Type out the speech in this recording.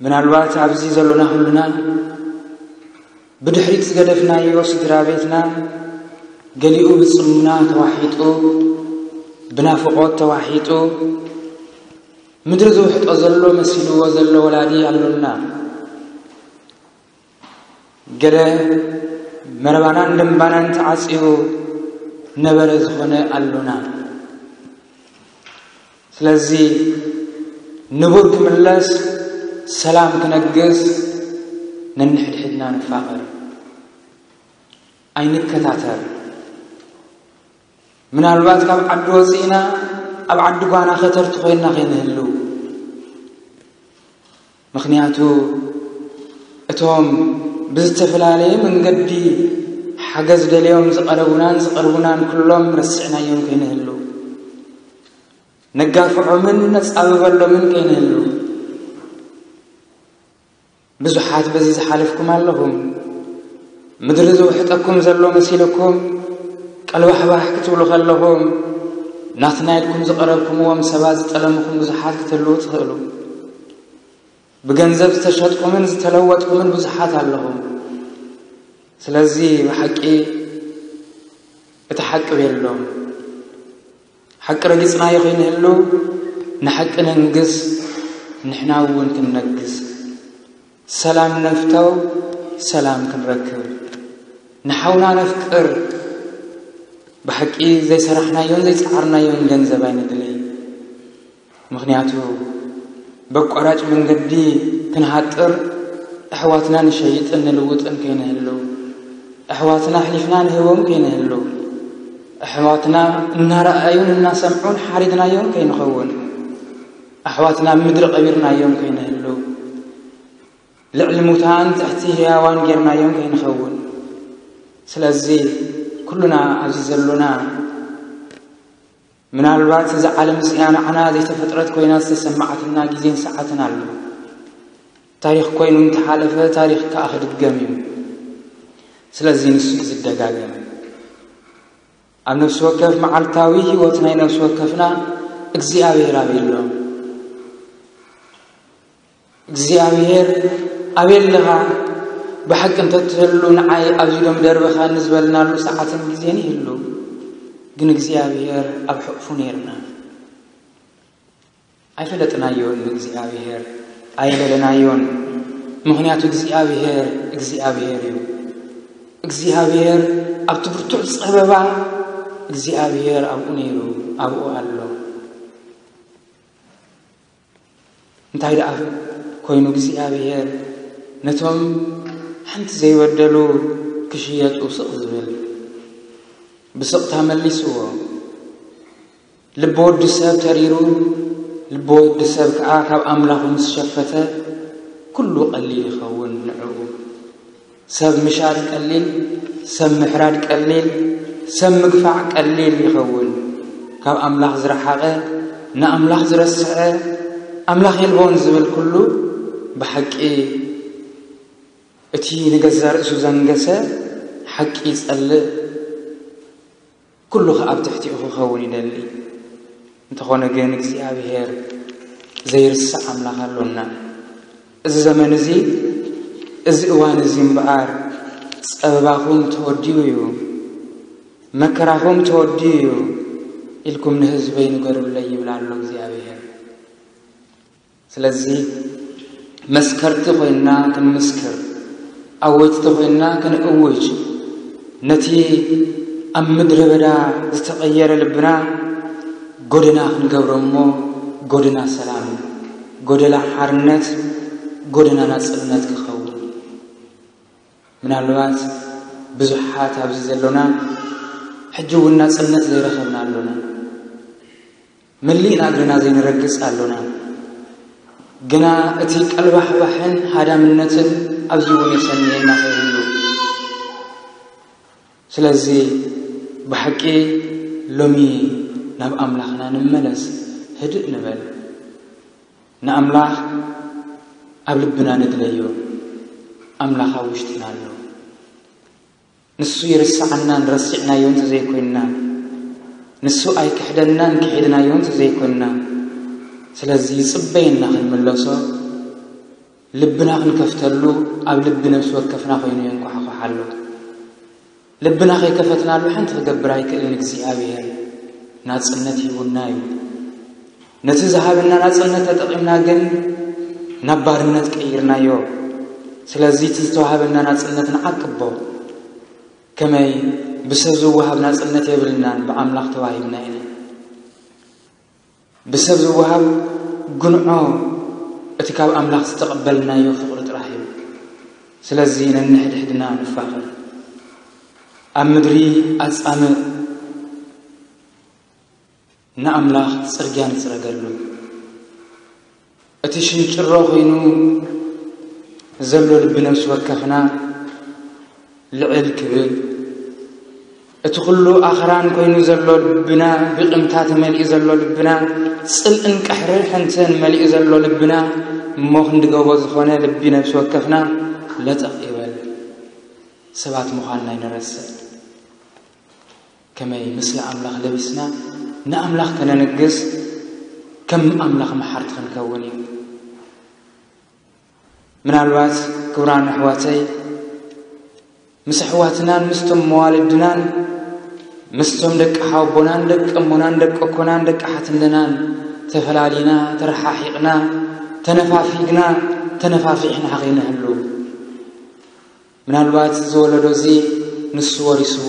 ምናልባት ኣብዚ ዘሎና ኩልና ብድሕሪት ዝገደፍናዮ ስድራ ቤትና ገሊኡ ብጽሙና ተዋሒጡ፣ ብናፍቖት ተዋሒጡ፣ ምድሪ ዝውሕጦ ዘሎ መሲልዎ ዘሎ ወላዲ ኣሎና። ገለ መረባናን ደምባናን ተዓጽዩ ነበረ ዝኾነ ኣሎና። ስለዚ ንቡር ክምለስ፣ ሰላም ክነግስ፣ ነንሕድሕድና ንፋቐር። ኣይንከታተር። ምናልባት ካብ ዓዲ ወፂእና ኣብ ዓዲ ጓና ከተርቲ ኮይንና ከይንህልው። ምኽንያቱ እቶም ብዝተፈላለየ መንገዲ ሓገዝ ደልዮም ዝቐረቡናን ዝቐርቡናን ኩሎም ረሲዕናዮም ከይንህልው። ነጋፍዖምን ነጻብበሎምን ከይንህልው። ብዙሓት በዚ ዝሓለፍኩም ኣለኹም። ምድሪ ዝውሕጠኩም ዘሎ መሲልኩም ቀልባሕባሕ ክትብሉ ከለኹም፣ ናትና ኢልኩም ዝቐረብኩምዎም ሰባት ዝጠለምኹም ብዙሓት ክትህልዉ ትኽእሉ። ብገንዘብ ዝተሸጥኩምን ዝተለወጥኩምን ብዙሓት ኣለኹም። ስለዚ ብሓቂ እቲ ሓቂ ቤሎም። ሓቂ ረጊጽናዮ ከይንህሉ፣ ንሓቂ ነንግስ፣ ንሕና እውን ክንነግስ። ሰላም ነፍተው፣ ሰላም ክንረክብ። ንሓውና ነፍቅር። ብሓቂ ዘይሰራሕናዮን ዘይጸዓርናዮን ገንዘብ ኣይነድልይ። ምኽንያቱ በቋራጭ መንገዲ ክንሃጥር፣ ኣሕዋትና ንሸይጥን ንልውጥን ከይንህሉ፣ ኣሕዋትና ኣሕሊፍና ንህቦም ከይንህሉ፣ ኣሕዋትና እናረኣዩን እናሰምዑን ሓሪድናዮም ከይንኸውን፣ ኣሕዋትና ኣብ ምድሪ ቀቢርናዮም ከይንህሉ፣ ልዕሊ ሙታን ትሕቲ ህያዋን ጌርናዮም ከይንኸውን። ስለዚ ኩሉና ኣብዚ ዘሎና፣ ምናልባት እዛ ዓለም እዚኣ ንዓና ዘይተፈጥረት ኮይና ዝተሰማዓትና ግዜን ሰዓትን ኣሎ። ታሪኽ ኮይኑ እንተሓለፈ፣ ታሪኽ ከኣ ክድገም እዩ። ስለዚ ንሱ እዩ ዝደጋገም። ኣብ ነፍሲ ወከፍ መዓልታዊ ህይወት ናይ ነፍሲ ወከፍና እግዚኣብሔር ኣበይ ኣሎ? እግዚኣብሔር ኣበይ ኣለኻ? ብሓቂ እንተትህሉ ንዓይ ኣብዚ ዶ ምደርበኻኒ ዝበልናሉ ሰዓትን ግዜን ይህሉ። ግን እግዚኣብሔር ኣብ ሕቑፉ ነይርና። ኣይፈለጥናዮን ንእግዚኣብሔር፣ ኣይደለናዮን። ምኽንያቱ እግዚኣብሔር እግዚኣብሔር እዩ። እግዚኣብሔር ኣብቲ ብርቱዕ ጸበባ እግዚኣብሔር ኣብኡ ነይሩ፣ ኣብኡ ኣሎ። እንታይ ደኣ ኮይኑ እግዚኣብሔር ነቶም ሓንቲ ዘይበደሉ ክሽየጡ ስቕ ዝብል? ብስቕታ መሊስዎ። ልቢ ወዲ ሰብ ተሪሩ፣ ልቢ ወዲ ሰብ ከኣ ካብ ኣምላኹ ምስ ሸፈተ፣ ኩሉ ቀሊል ይኸውን ንዕኡ። ሰብ ምሻጥ ቀሊል፣ ሰብ ምሕራድ ቀሊል፣ ሰብ ምግፋዕ ቀሊል ይኸውን። ካብ ኣምላኽ ዝረሓቐ፣ ንኣምላኽ ዝረስዐ፣ ኣምላኽ የልቦን ዝብል ኩሉ ብሓቂ እቲ ንገዛእ ርእሱ ዘንገሰ ሓቂ ይጸልእ። ኩሉ ኸኣ ኣብ ትሕቲኡ ክኸውን ይደሊ። እንተኾነ ግን እግዚኣብሔር ዘይርስዕ ኣምላኽ ኣሎና። እዚ ዘመን እዚ፣ እዚ እዋን እዚ እምበኣር ጸበባኹም ተወዲኡ እዩ፣ መከራኹም ተወዲኡ እዩ ኢልኩም ንህዝበይ ንገሩለይ ይብል ኣሎ እግዚኣብሔር። ስለዚ መስከርቲ ኮይንና ክንምስክር፣ ኣወጅቲ ኮይንና ክንእውጅ፣ ነቲ ኣብ ምድረ በዳ ዝተቐየረ ልብና ጎደና ክንገብሮ እሞ፣ ጎደና ሰላም፣ ጎደና ሓርነት፣ ጎደና ናጽነት ክኸውን። ምናልባት ብዙሓት ኣብዚ ዘሎና ሕጂ እውን ናጽነት ዘይረኸብና ኣሎና። መሊእና እግርና ዘይንረግጽ ኣሎና። ግና እቲ ቀልባሕባሕን ሃዳምነትን ኣብዚ እውን የሰንየና ከይህሉ። ስለዚ ብሓቂ ሎሚ ናብ ኣምላኽና ንመለስ፣ ህድእ ንበል። ንኣምላኽ ኣብ ልብና ንግለዮ። ኣምላኽ ኣብ ውሽጥና ኣሎ። ንሱ ይርስዓናን ረሲዕናዮ እንተዘይኮይንና፣ ንሱ ኣይክሕደናን፣ ክሒድናዮ እንተዘይኮንና። ስለዚ ይጽበየና ክንምለሶ፣ ልብና ክንከፍተሉ ኣብ ልቢ ነፍሲ ወከፍና ኮይኑ የንኳሕኳሕ ኣሎ። ልብና ከይከፈትናሉ ሓንቲ ክገብር ኣይክእልን። እግዚኣብሔር ናጽነት ሂቡና እዩ። ነቲ ዝሃበና ናጽነት ተጠቒምና ግን ናብ ባርነት ቀይርናዮ። ስለዚ እቲ ዝተዋሃበና ናጽነት ንዓቅቦ። ከመይ ብሰብ ዝወሃብ ናጽነት የብልናን፣ ብኣምላኽ ተዋሂብና ኢና። ብሰብ ዝወሃብ ጉንዖ እቲ ካብ ኣምላኽ ዝተቐበልናዮ ፍቕሪ ጥራሕ እዩ። ስለዚ ነንሕድሕድና ንፋቐር። ኣብ ምድሪ ኣጻምእ ንኣምላኽ ጽርግያ ንጽረገሉ። እቲ ሽንጭሮ ኮይኑ ዘሎ ልቢ ነፍሲ ወከፍና ልዕል ክብል፣ እቲ ኩሉ ኣኽራን ኮይኑ ዘሎ ልብና፣ ብቕምታ ተመሊኡ ዘሎ ልብና፣ ጽልእን ቅሕርሕንትን መሊኡ ዘሎ ልብና፣ እሞ ክንዲ ጎቦ ዝኾነ ልቢ ነፍሲ ወከፍና ለጠቕ ይበል። ሰባት ምዃንና ኣይንረስዕ። ከመይ ምስሊ ኣምላኽ ለቢስና ንኣምላኽ ከነንግስ፣ ከም ኣምላኽ መሓርቲ ክንከውን እዩ። ምናልባት ክቡራን ኣሕዋተይ፣ ምስ ኣሕዋትናን ምስቶም መዋልድናን ምስቶም ደቂ ሓወቦናን ደቂ እሞናን ደቂ ኣኮናን ደቂ ሓትንደናን ተፈላሊና፣ ተረሓሒቕና፣ ተነፋፊግና፣ ተነፋፊሕና ከይንህሉ፣ ምናልባት እዚ ወለዶ እዚ ንሱ ወሪስዎ